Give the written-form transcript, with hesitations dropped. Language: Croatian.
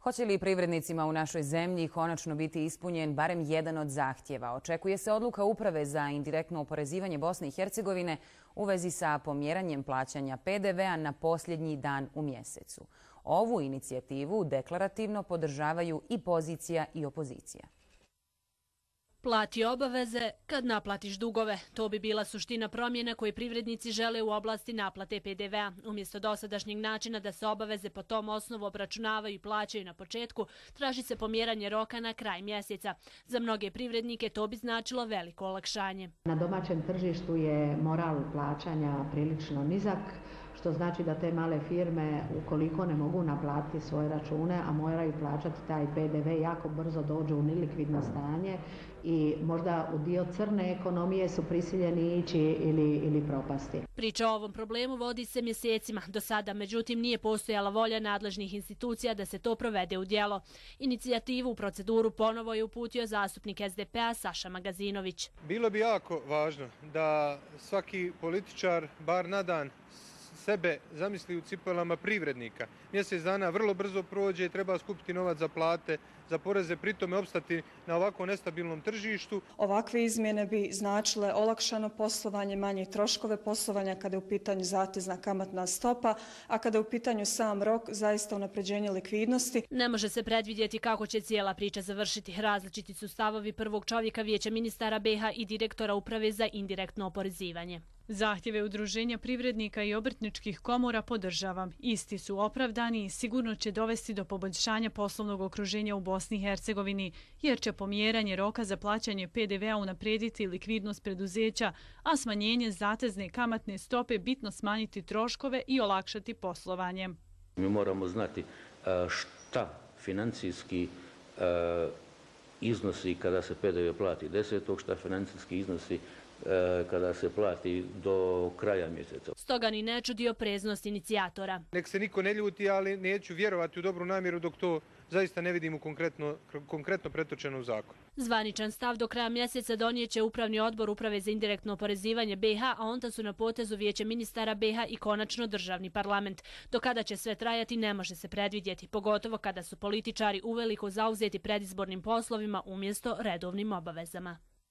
Hoće li privrednicima u našoj zemlji konačno biti ispunjen barem jedan od zahtjeva? Očekuje se odluka Uprave za indirektno oporezivanje Bosne i Hercegovine u vezi sa pomjeranjem plaćanja PDV-a na posljednji dan u mjesecu. Ovu inicijativu deklarativno podržavaju i pozicija i opozicija. Plati obaveze kad naplatiš dugove. To bi bila suština promjena koje privrednici žele u oblasti naplate PDV-a. Umjesto dosadašnjeg načina da se obaveze po tom osnovu obračunavaju i plaćaju na početku, traži se pomjeranje roka na kraj mjeseca. Za mnoge privrednike to bi značilo veliko olakšanje. Na domaćem tržištu je moral plaćanja prilično nizak, što znači da te male firme, ukoliko ne mogu naplatiti svoje račune, a moraju plaćati taj PDV, jako brzo dođu u nelikvidno stanje i možda u dio crne ekonomije su prisiljeni ići ili propasti. Priča o ovom problemu vodi se mjesecima. Do sada, međutim, nije postojala volja nadležnih institucija da se to provede u djelo. Inicijativu u proceduru ponovo je uputio zastupnik SDP-a Saša Magazinović. Bilo bi jako važno da svaki političar, bar na dan, sebe zamisli u cipelama privrednika. Mjesec dana vrlo brzo prođe, treba skupiti novac za plate, za poreze, pritome opstati na ovako nestabilnom tržištu. Ovakve izmjene bi značile olakšano poslovanje, manje troškove poslovanja kada je u pitanju zatezna kamatna stopa, a kada je u pitanju sam rok, zaista unapređenje likvidnosti. Ne može se predvidjeti kako će cijela priča završiti. Različiti su stavovi prvog čovjeka Vijeća ministara BiH i direktora Uprave za indirektno oporezivanje. Zahtjeve udruženja privrednika i obrtničkih komora podržavam. Isti su opravdani i sigurno će dovesti do poboljšanja poslovnog okruženja u Bosni i Hercegovini, jer će pomjeranje roka za plaćanje PDV-a unaprijediti likvidnost preduzeća, a smanjenje zatezne kamatne stope bitno smanjiti troškove i olakšati poslovanje. Mi moramo znati šta financijski iznosi kada se PDV plati 10. šta financijski iznosi kada se plati do kraja mjeseca. Stoga ni ne čudi opreznost inicijatora. Nek se niko ne ljuti, ali neću vjerovati u dobru namjeru dok to zaista ne vidimo konkretno pretočeno u zakon. Zvaničan stav do kraja mjeseca donijet će Upravni odbor Uprave za indirektno oporezivanje BiH, a onda su na potezu Vijeće ministara BiH i konačno državni parlament. Do kada će sve trajati ne može se predvidjeti, pogotovo kada su političari uveliko zauzeti predizbornim poslovima umjesto redovnim obavezama.